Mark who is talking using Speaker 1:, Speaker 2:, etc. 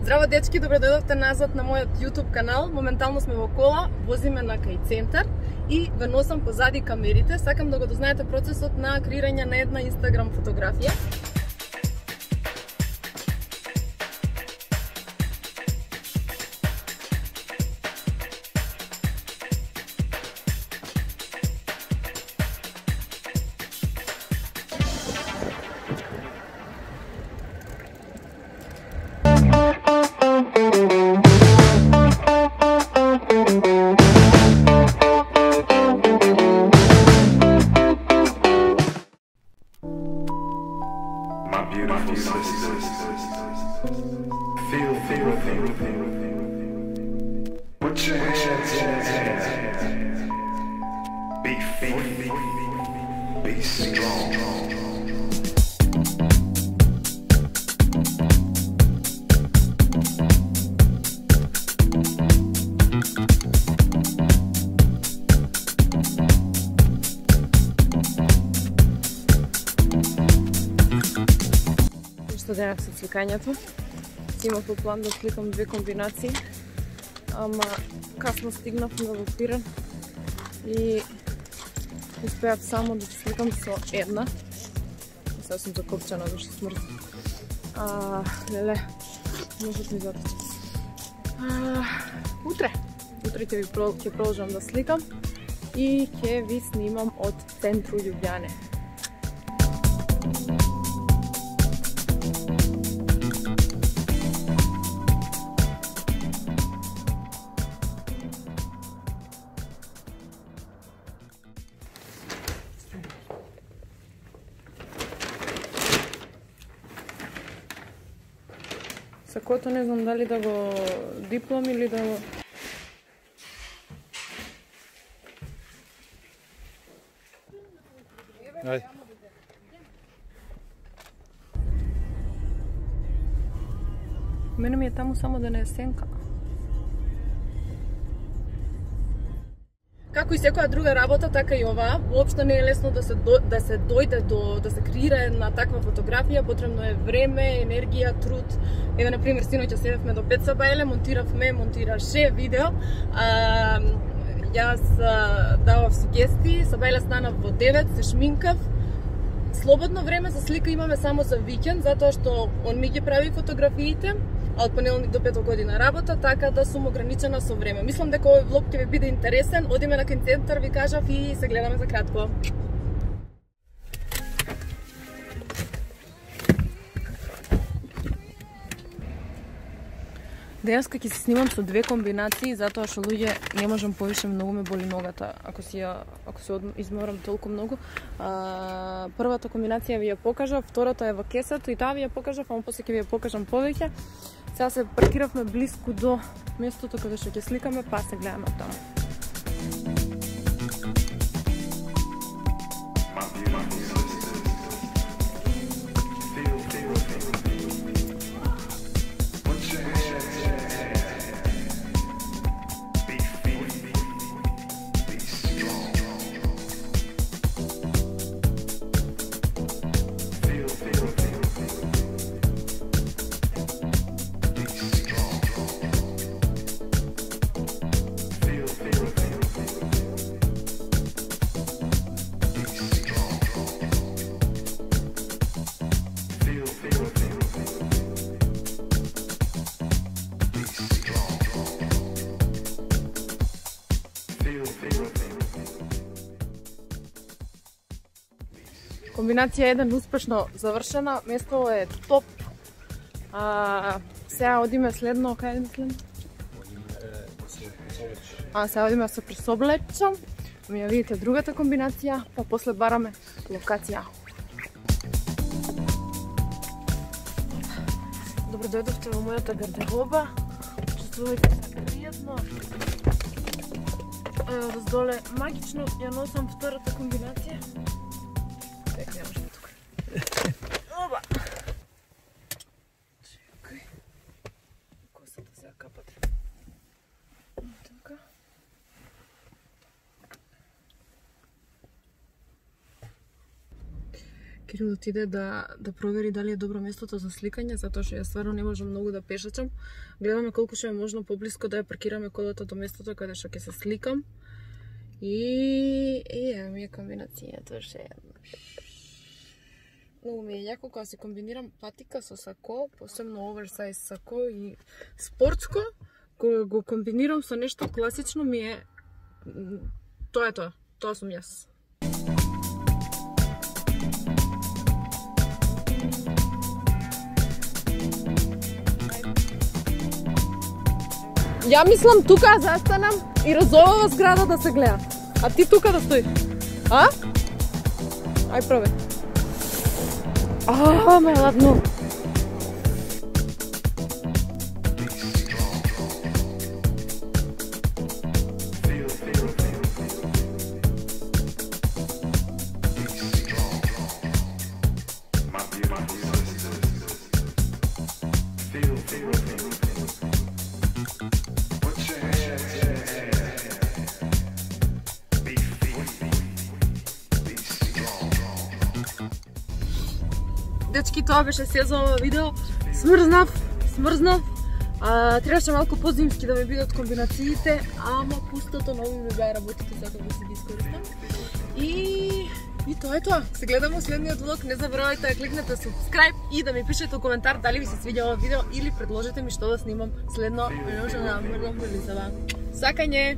Speaker 1: Здраво дечки, добро дојдовте назад на мојот YouTube канал. Моментално сме во кола, возиме на кај центар и ве носам позади камерите. Сакам да го дознаете процесот на креирање на една Instagram фотографија.
Speaker 2: Beautiful sisters, feel, put your hands be free, be strong.
Speaker 1: Што денак со сликањето. Имав по план да сликам две комбинации, ама касно стигнав во Пирен и успеав само да сликам со една. Сега сум закопчана, души смрт. Леле, можат ми заточи. Утре ќе продолжам да сликам и ќе ви снимам од центру Љубљане. Сакото не знам дали да го диплом или да го...
Speaker 3: Ајде.
Speaker 1: Мене ми е таму само да не е сенка. Како и секоја друга работа, така и оваа, воопшто не е лесно да се дојде до да се креира една таква фотографија, потребно е време, енергија, труд. Еве на пример синоќа седевме до 5 сабајле, монтираше видео. Јас давав сугестии, сабајле станав во 9, се шминкав. Слободно време за слика имаме само за викенд, затоа што он ми ги прави фотографиите, а од понеделник до петок година работа, така да сум ограничена со време. Мислам дека овој влог ќе ви биде интересен. Одиме на кај центар, ви кажав, и се гледаме за кратко. Денеска ќе се снимам со две комбинации, затоа што луѓе не можам повише, многу ме боли ногата ако се изморам толку многу. Првата комбинација ви ја покажав, втората е во кесето и таа ви ја покажав, ама после ќе ви ја покажам повеќе. Сега се паркиравме блиску до местото каде што ќе сликаме, па се гледаме таму. Комбинација 1 успешно завршена, место е топ. Сега одиме следно, кај одиме следно? Сега одиме се присоблечам, ми ја видите другата комбинација, па после бараме локација. Добро дојдовте во мојата гардероба, чувствувате се пријатно. Раздоле магично ја носам втората комбинација. Оба! Чекај. Косата сега капат. Така. Кирил отиде да провери дали е добро местото за сликање, затоа што ја стварно не можам многу да пешачам. Гледаме колку што е можно поблиско да ја паркираме колата до местото каде што ќе се сликам. И ми е комбинацијата ше. Многу ми е јако кога се комбинирам патика со сако, посебно оверсайз сако и спортско, кога го комбинирам со нешто класично ми е тоа е тоа. Тоа сум јас. Ја мислам тука застанам и разовава зграда да се гледа. А ти тука да стоиш. А? Ај пробај. Ме ладно. Дечки, тоа беше се за ова видео. Смрзнав. Требаше малку позимски да ми бидат комбинациите, ама пустото нови ми беа работите, сакам да си ги искористам. И тоа е тоа. Се гледаме следниот влог. Не заборавајте да кликнете subscribe и да ми пишете коментар дали ви се свиѓа ова видео или предложете ми што да снимам следно. Може да мрдам или за вам. Сакање!